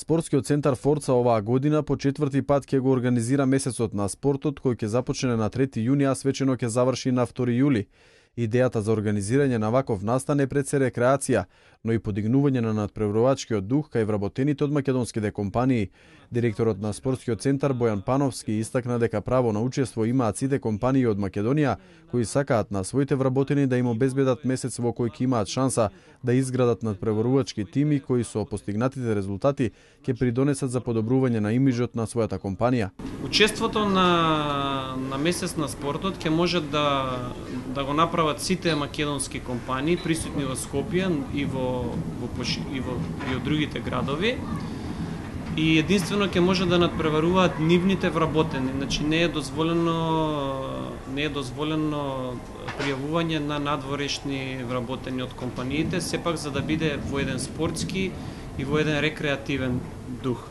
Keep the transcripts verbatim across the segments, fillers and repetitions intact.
Спортскиот центар Форца оваа година по четврти пат ќе го организира месецот на спортот, кој ќе започне на трети јуни, а свечено ќе заврши на втори јули. Идејата за организирање на ваков настан е пред се рекреација, но и подигнување на надпреварувачкиот дух кај вработените од македонските компании. Директорот на Спортскиот центар Бојан Пановски истакна дека право на учество имаат сите компании од Македонија кои сакаат на своите вработени да им обезбедат месец во кој ќе имаат шанса да изградат надпреварувачки тими кои со постигнатите резултати ќе придонесат за подобрување на имиджот на својата компанија. Учеството на на месец на спортот ќе може да да го направат сите македонски компании присутни во Скопје и во во и во и од другите градови. И единствено ќе може да надпреваруваат нивните вработени, значи не е дозволено не е дозволено пријавување на надворешни вработени од компаниите, сепак за да биде во еден спортски и во еден рекреативен дух.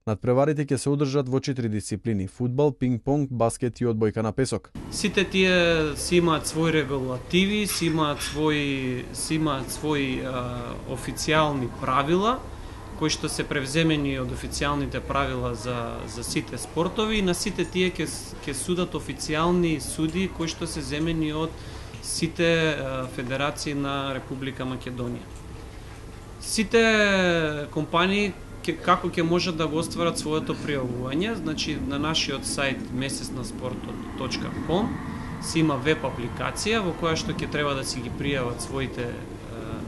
Надпреварите ќе се одржат во четири дисциплини: фудбал, пинг-понг, баскет и одбојка на песок. Сите тие си имаат своји регулативи, си имаат своји си имаат своји а, официјални правила кои што се превземени од официјалните правила за за сите спортови, и на сите тие ќе ќе судат официјални суди кои што се земени од сите а, федерации на Република Македонија. Сите компании како ќе можат да го остварат своето пријавување, значи на нашиот сајт месец на спортот точка ком си има веб апликација во која што ќе треба да си ги пријават своите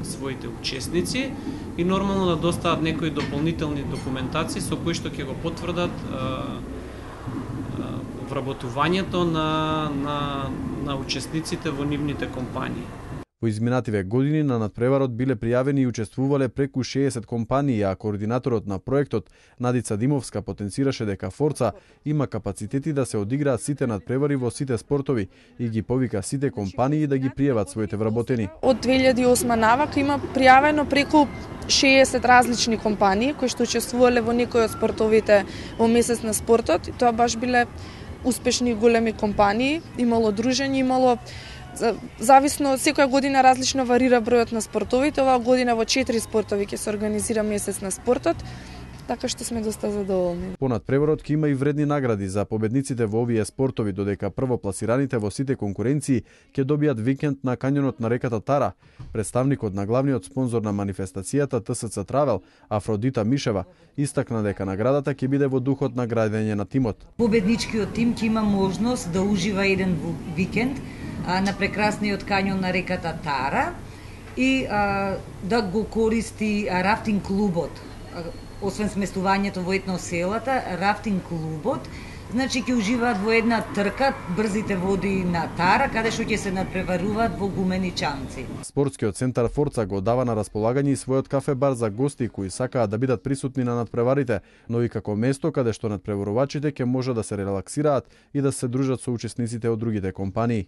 своите учесници и нормално да достават некои дополнителни документации со кои што ќе го потврдат а, а, вработувањето на на на учесниците во нивните компании. Во изминативе години на надпреварот биле пријавени и учествувале преку шеесет компании, а координаторот на проектот Надица Димовска потенцираше дека Форца има капацитети да се одиграат сите надпревари во сите спортови и ги повика сите компании да ги пријават своите вработени. Од две илјади и осма навака има пријавено преку шеесет различни компании кои што учествувале во некои од спортовите во месец на спортот, и тоа баш биле успешни големи компании, имало дружење, имало зависно секоја година различно варира бројот на спортовите. Оваа година во четири спортови ќе се организира месец на спортот, така што сме доста задоволни. По надпреварот ќе има и вредни награди за победниците во овие спортови, додека првопласираните во сите конкуренции ќе добијат викенд на кањонот на реката Тара. Представникот на главниот спонзор на манифестацијата Т С Ц Травел, Афродита Мишева, истакна дека наградата ќе биде во духот на градење на тимот. Победничкиот тим ќе има можност да ужива еден викенд на прекрасниот кањон на реката Тара и а, да го користи рафтинг клубот. Освен сместувањето во етноселата, рафтинг клубот, значи ќе уживаат во една трка брзите води на Тара, каде што ќе се надпреваруваат во гумени чамци. Спортскиот центар Форца го дава на располагање и својот кафе-бар за гости кои сакаат да бидат присутни на надпреварите, но и како место каде што надпреварувачите ќе може да се релаксираат и да се дружат со учесниците од другите компании.